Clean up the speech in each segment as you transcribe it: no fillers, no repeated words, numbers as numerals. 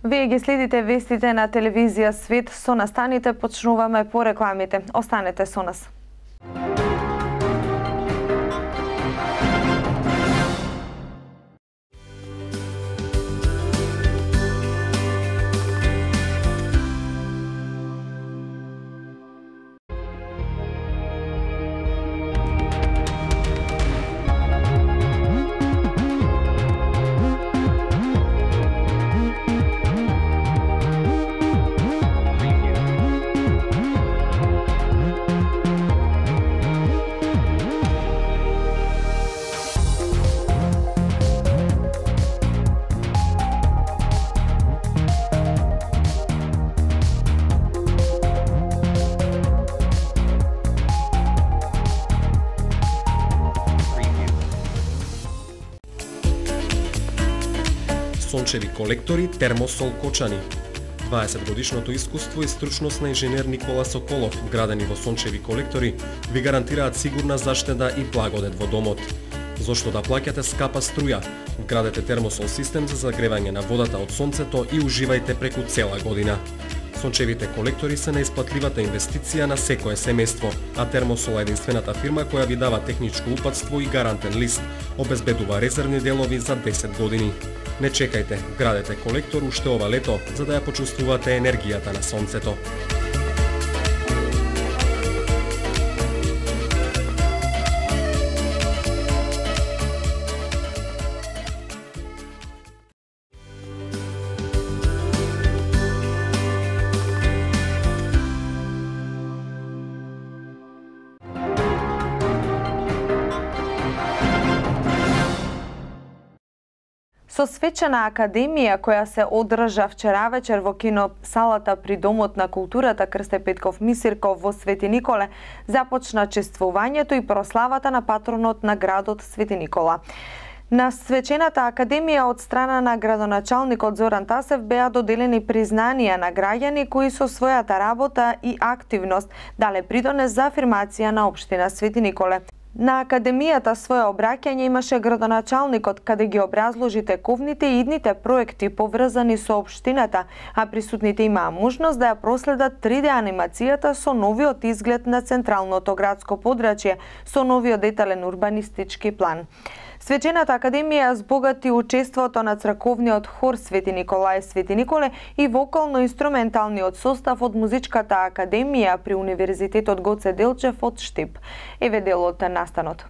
Вие ги следите вестите на телевизија Свет, со настаните почнуваме по рекламите. Останете со нас. Сончеви колектори, термосол Кочани. 20-годишното искуство и стручност на инженер Никола Соколов, вградени во сончеви колектори, ви гарантираат сигурна заштеда и благодет во домот. Зошто да плаќате скапа струја? Вградете термосол систем за загревање на водата од сонцето и уживајте преку цела година. Сончевите колектори се наисплатливата инвестиција на секое семејство, а Термосол е единствената фирма која ви дава техничко упатство и гарантен лист, обезбедува резервни делови за 10 години. Не чекајте, вградете колектор уште ова лето, за да ја почувствувате енергијата на сонцето. Со свечена академија која се одржа вчера вечер во кино салата при Домот на културата Крсте Петков Мисирков во Свети Николе, започна чествувањето и прославата на патронот на градот Свети Никола. На свечената академија од страна на градоначалникот Зоран Тасев беа доделени признанија на граѓани кои со својата работа и активност дале придонес за афирмација на општина Свети Николе. На академијата свое обраќање имаше градоначалникот каде ги образложи тековните и идните проекти поврзани со општината, а присутните имаа можност да ја проследат 3D анимацијата со новиот изглед на централното градско подрачје, со новиот детален урбанистички план. Свечената академија збогати учеството на црковниот хор Свети Николај Свети Николе и вокално-инструменталниот состав од музичката академија при Универзитетот Гоце Делчев од Штип. Еве дел од настанот.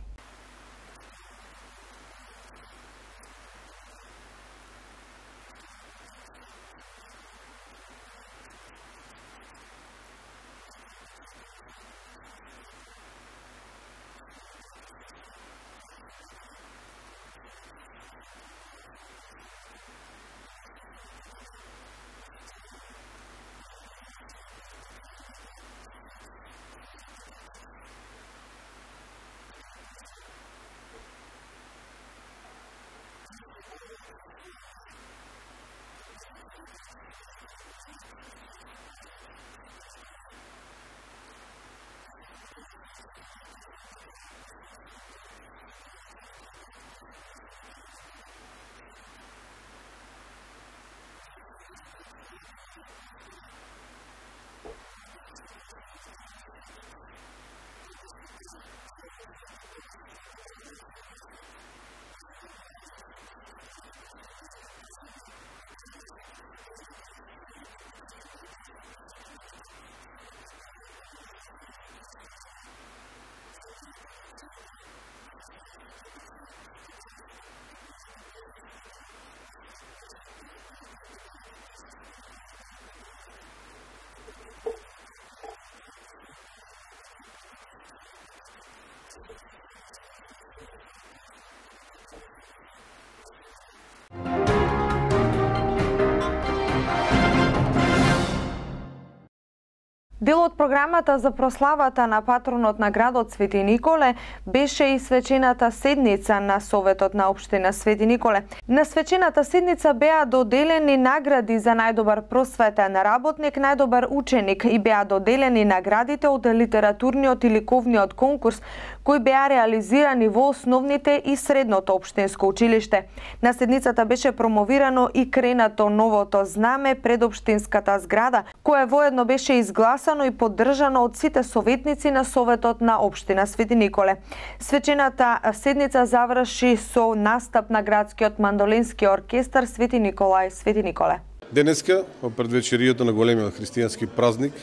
Дел од програмата за прославата на патронот на градот Свети Николе беше и свечената седница на Советот на општина Свети Николе. На свечената седница беа доделени награди за најдобар просветен работник, најдобар ученик и беа доделени наградите од литературниот и ликовниот конкурс кои беа реализирани во основните и средното општинско училиште. На седницата беше промовирано и кренато новото знаме пред општинската зграда, кое воедно беше изгласано и поддржано од сите советници на Советот на општина Свети Николе. Свечената седница заврши со настап на градскиот мандолински оркестар Свети Николај Свети Николе. Денеска, во предвечерието на големиот христијански празник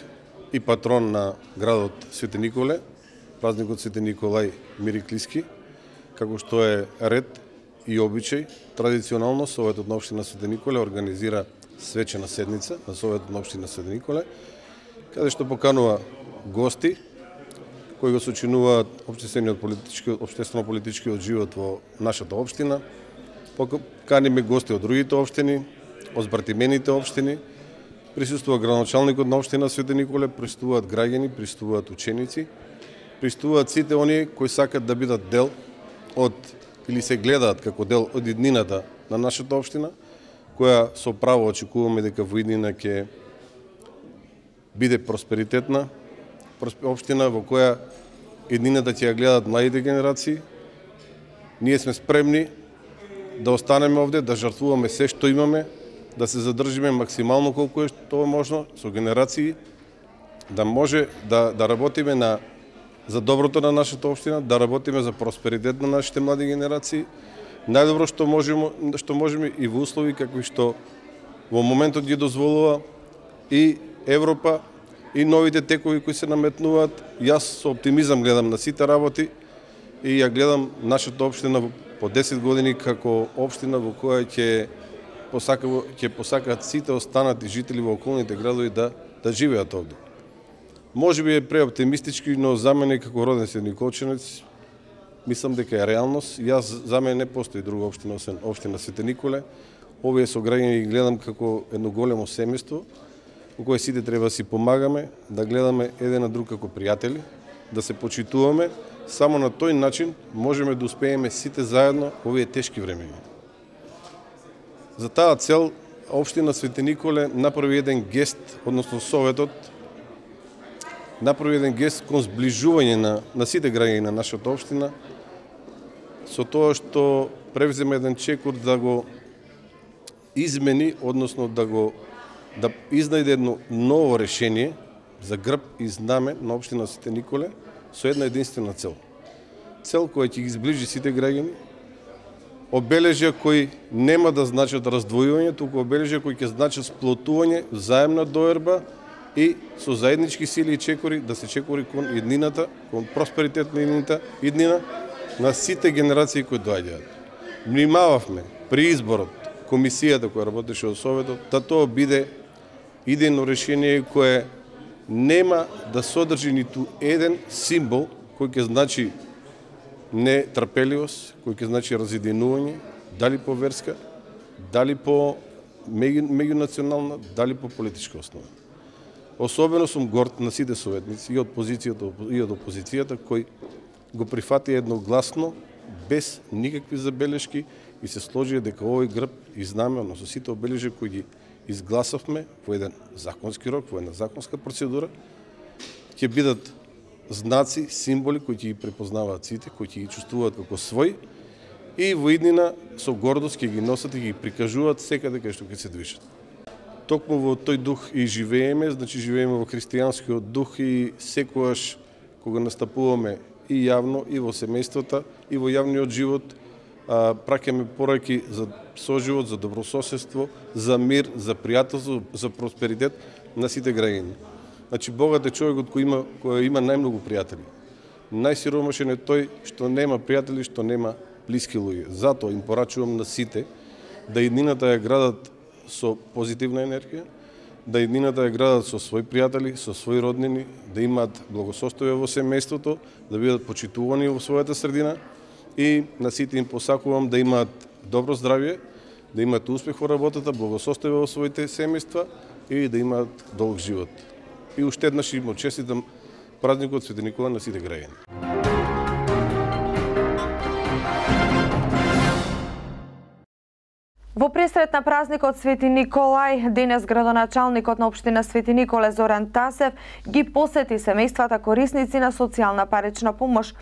и патрон на градот Свети Николе, празникот Свети Николај Мириклиски, како што е ред и обичај, традиционално Советот на општина Свети Николе организира свечена седница на Советот на општина Свети Николе, каде што поканува гости кои го сочинуваат општествено-политичкиот живот во нашата општина. Поканиме гости од другите општини, од збратимените општини, присуствува градоначалникот на општина Свети Николе, присуствуваат граѓани, присуствуваат ученици, присуствуваат сите оние кои сакат да бидат дел од или се гледаат како дел од иднината на нашата општина, која со право очекуваме дека во иднина ќе биде просперитетна општина во која иднината ќе ја гледат младите генерации. Ние сме спремни да останеме овде, да жртвуваме се што имаме, да се задржиме максимално колку е тоа можно со генерации, да може да работиме за доброто на нашата општина, да работиме за просперитет на нашите млади генерации, најдобро што можеме и во услови какви што во моментот ги дозволува и Европа и новите текови кои се наметнуваат. Јас со оптимизам гледам на сите работи и ја гледам нашата општина по 10 години како општина во која ќе посакаат сите останати жители во околните градови да живеат овде. Може би е преоптимистички, но за мене како роден седниколчанец мислам дека е реалност. За мене не постои друга општина освен општина Свети Николе. Овие со граѓани ги гледам како едно големо семејство во кое сите треба да си помагаме, да гледаме еден на друг како пријатели, да се почитуваме. Само на тој начин можеме да успееме сите заедно во овие тешки времења. За таа цел општина Свети Николе направи еден гест, односно Советот направи еден гест кон зближување на сите граѓани на нашата општина, со тоа што превземе еден чекор да го измени, односно да изнајде едно ново решение за грб и знаме на општина Свети Николе со една единствена цел. Цел која ќе ги зближи сите граѓани, обележја кои нема да значат раздвојување, туку обележја кои ќе значат сплотување, взаемна доерба и со заеднички сили и чекори да се чекори кон иднината, кон просперитет на иднина на сите генерации кои доаѓаат. Внимававме при изборот, комисијата која работеше од Советот, да тоа биде идејно решение кое нема да содржи ниту еден символ кој ќе значи нетрпеливост, кој ќе значи разединување, дали по верска, дали по меѓунационална, дали по политичка основа. Особено сум горд на сите советници и од позицијата и од опозицијата кои го прифатија едногласно, без никакви забелешки и се сложија дека овој грб и знаме, односно сите обележја кои ги изгласавме во еден законски рок, во една законска процедура, ќе бидат знаци, символи кои ќе ги препознаваат сите, кои ќе ги чувствуваат како свој и во иднина со гордост ќе ги носат и ги прикажуваат секаде кај што ќе се движат. Токму во тој дух и живееме, значи живееме во христијанскиот дух и секогаш кога настапуваме и јавно, и во семејствата, и во јавниот живот, праќаме пораки за соживот, за добрососедство, за мир, за пријателство, за просперитет на сите граѓани. Значи, богат е човекот кој има најмногу пријатели. Најсиромашен е тој што нема пријатели, што нема блиски луѓе. Затоа им порачувам на сите да иднината ја градат со позитивна енергија, да иднината ја градат со своји пријатели, со своји роднини, да имаат благосостоје во семејството, да бидат почитувани во својата средина и на сите им посакувам да имаат добро здравје, да имаат успех во работата, благосостоје во своите семејства и да имаат долг живот. и уште еднаш им честитам празникот Свети Никола на сите граѓани. Во пресрет на празникот Свети Николај, денес градоначалникот на општина Свети Николе Зоран Тасев ги посети семејствата корисници на социјална парична помош.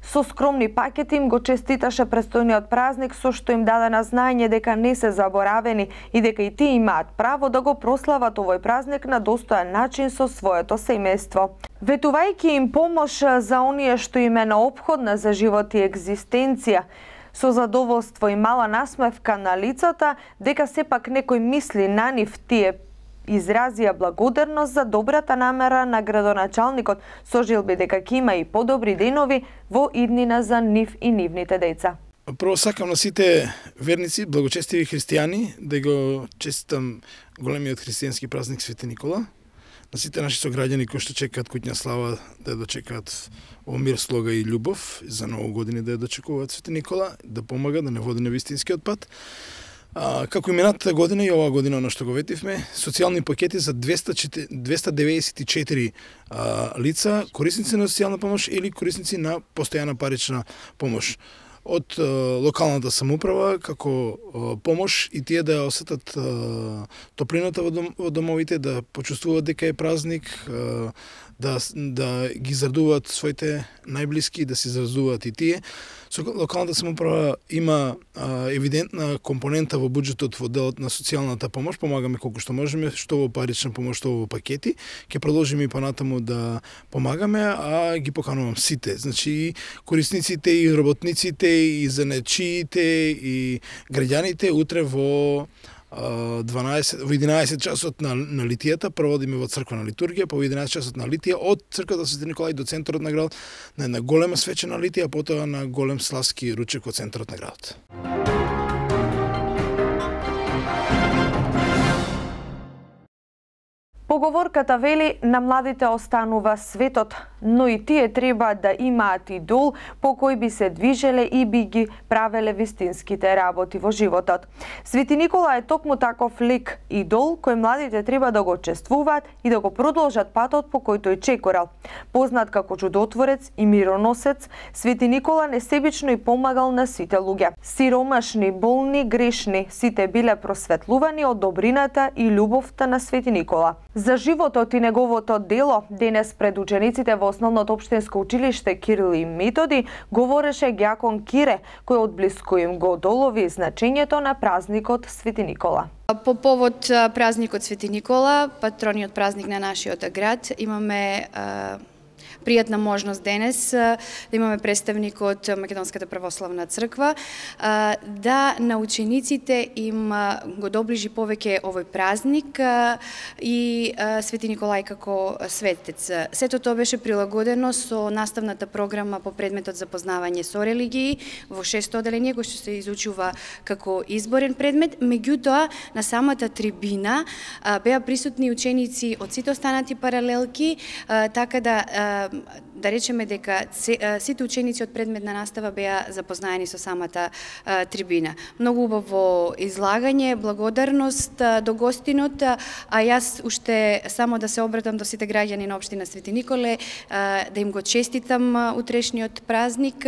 Со скромни пакети им го честиташе престојниот празник, со што им даде на знаење дека не се заборавени и дека и тие имаат право да го прослават овој празник на достоен начин со своето семејство. Ветувајќи им помош за оние што им е неопходна за живот и екзистенција, со задоволство и мала насмевка на лицата, дека сепак некој мисли на нив, тие изразија благодарност за добрата намера на градоначалникот, со желби дека ќе има и подобри денови во иднина за нив и нивните деца. Прво сакам на сите верници, благочестиви христијани, да го честитам големиот христијански празник Свети Никола. На сите наши сограѓани кои што чекаат куќна слава, да ја дочекаат во мир, слога и љубов, за ново години да ја дочекуваат Свети Никола, да помага, да не води на вистинскиот пат. Како и минатата година и оваа година, оно што го ветивме, социјални пакети за 294 лица, корисници на социјална помош или корисници на постојана парична помош од локалната самоуправа како помош и тие да осетат топлината во домовите, да почувствуваат дека е празник, да ги израдуваат своите најблиски, да се изразуваат и тие. Со локалната самоуправа има евидентна компонента во буџетот во делот на социјалната помош, помагаме колку што можеме, што во парична помош, што во пакети. Ќе продолжиме и понатаму да помагаме, а ги поканувам сите, значи и корисниците, и работниците, и занечиите, и граѓаните утре во 11 часот на литијата, проводиме во црквена литургија, по 11 часот на литија од црквата Свети Николај до центарот на градот, на една голема свечена литија, потоа на голем славски ручек во центарот на градот. Поговорката вели, на младите останува светот, но и тие треба да имаат идол по кој би се движеле и би ги правеле вистинските работи во животот. Свети Никола е токму таков лик, идол кој младите треба да го чествуваат и да го продолжат патот по кој тој чекорал. Познат како чудотворец и мироносец, Свети Никола несебично и помагал на сите луѓе. Сиромашни, болни, грешни, сите биле просветлувани од добрината и љубовта на Свети Никола. За животот и неговото дело, денес пред учениците во Основното општинско училиште Кирил и Методи говореше ѓакон Кире, кој одблиску им го долови значењето на празникот Свети Никола. По повод празникот Свети Никола, патрониот празник на нашиот град, имаме пријатна можност денес да имаме представник од Македонската православна црква да на учениците им го доближи повеќе овој празник и Свети Николај како светец. Сето тоа беше прилагодено со наставната програма по предметот за познавање со религии во 6-то оделение кој што се изучува како изборен предмет. Меѓутоа на самата трибина беа присутни ученици од сите останати паралелки, така да речеме дека сите ученици од предметна настава беа запознаени со самата трибина. Многу убаво излагање, благодарност до гостинот, а јас уште само да се обратам до сите граѓани на општина Свети Николе, да им го честитам утрешниот празник,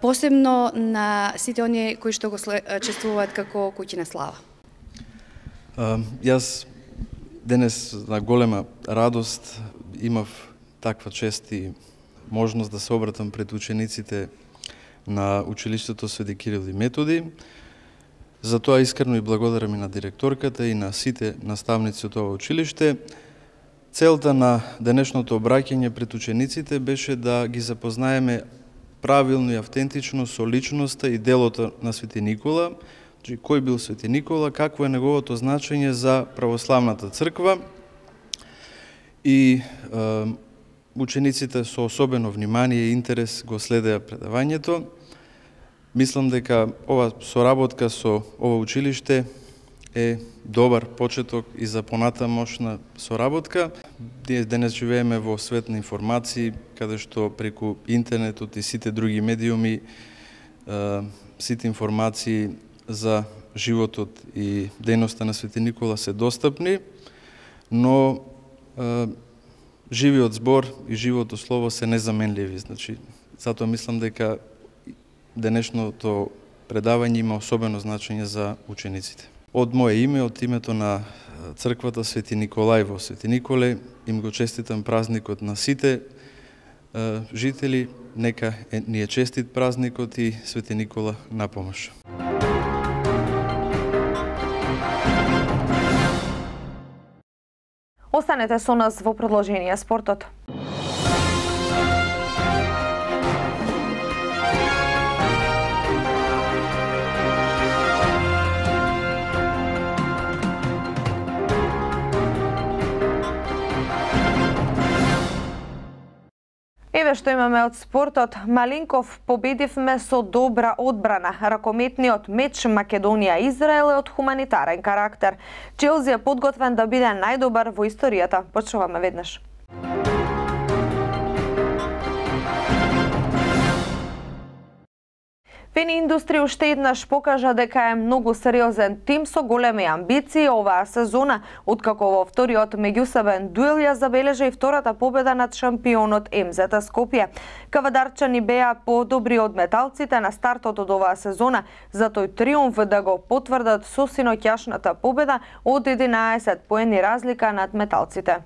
посебно на сите оние кои што го чествуваат како куќина слава. Јас денес на голема радост имав таква чест и можност да се обратам пред учениците на училиштето Свети Кирил и Методи. За тоа искрено и благодарам и на директорката и на сите наставници од ова училиште. Целта на денешното обраќање пред учениците беше да ги запознаеме правилно и автентично со личноста и делото на Свети Никола, кој бил Свети Никола, какво е неговото значење за православната црква и учениците со особено внимание и интерес го следеа предавањето. Мислам дека ова соработка со ова училиште е добар почеток и за понатамошна соработка. Денес живееме во свет на информации, каде што преку интернетот и сите други медиуми, сите информации за животот и дејноста на Свети Никола се достапни, но живиот збор и живото слово се незаменливи. Значи, затоа мислам дека денешното предавање има особено значење за учениците. Од мое име, од името на црквата Свети Николај во Свети Николе, им го честитам празникот на сите жители, нека ни е честит празникот и Свети Никола на помош. Останете со нас во продолжение спортот. Еве што имаме од спортот. Малинков победивме со добра одбрана. Ракометниот меч Македонија-Израел е од хуманитарен карактер. Челси е подготвен да биде најдобар во историјата. Почнуваме веднаш. Пени Индустри уште еднаш покажа дека е многу сериозен тим со големи амбиции оваа сезона, откако во вториот меѓусебен дуел ја забележа и втората победа над шампионот МЗ Скопје. Кавадарчани беа подобри од металците на стартот од оваа сезона, за тој триумф да го потврдат со синоќашната победа од 11 поени разлика над металците.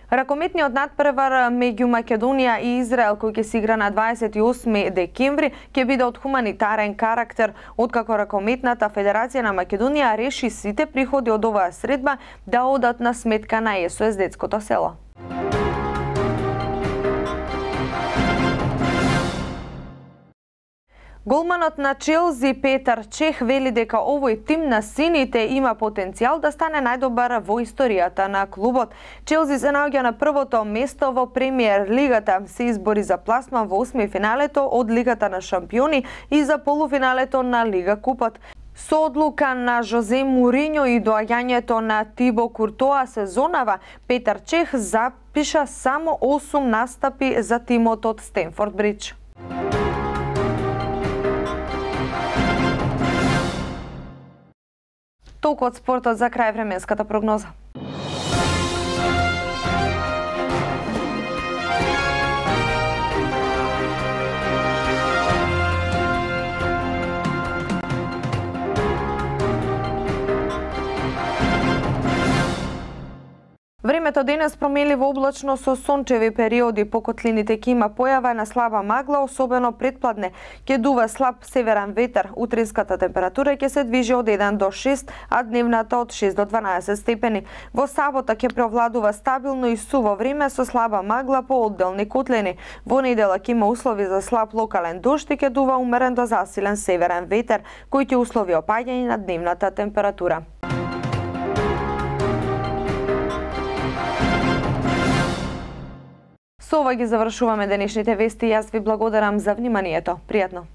Ракометниот надпревар меѓу Македонија и Израел, кој ќе се игра на 28 декември, ќе биде од хуманитарен карактер, откако Ракометната федерација на Македонија реши сите приходи од оваа средба да одат на сметка на СОС детското село. Голманот на Челси Петар Чех вели дека овој тим на сините има потенцијал да стане најдобар во историјата на клубот. Челси се наоѓа на првото место во Премиер лигата, се избори за пласман во 8 финалето од Лигата на шампиони и за полуфиналето на Лига Купот. Со одлука на Жозе Муриньо и доаѓањето на Тибо Куртоа сезонава, Петар Чех запиша само 8 настапи за тимот од Стенфорд Бридж. Толку од спортот, за крај временската прогноза. Времето денес промеливо облачно со сончеви периоди, по котлините ќе има појава на слаба магла, особено предпладне. Ќе дува слаб северен ветер, утринската температура ќе се движи од 1 до 6, а дневната од 6 до 12 степени. Во сабота ќе преовладува стабилно и суво време со слаба магла по одделни котлини. Во недела ќе има услови за слаб локален дожд и ќе дува умерен до засилен северен ветер, кој ќе услови опаѓање на дневната температура. Со ова ги завршуваме денешните вести. Јас ви благодарам за вниманието. Пријатно.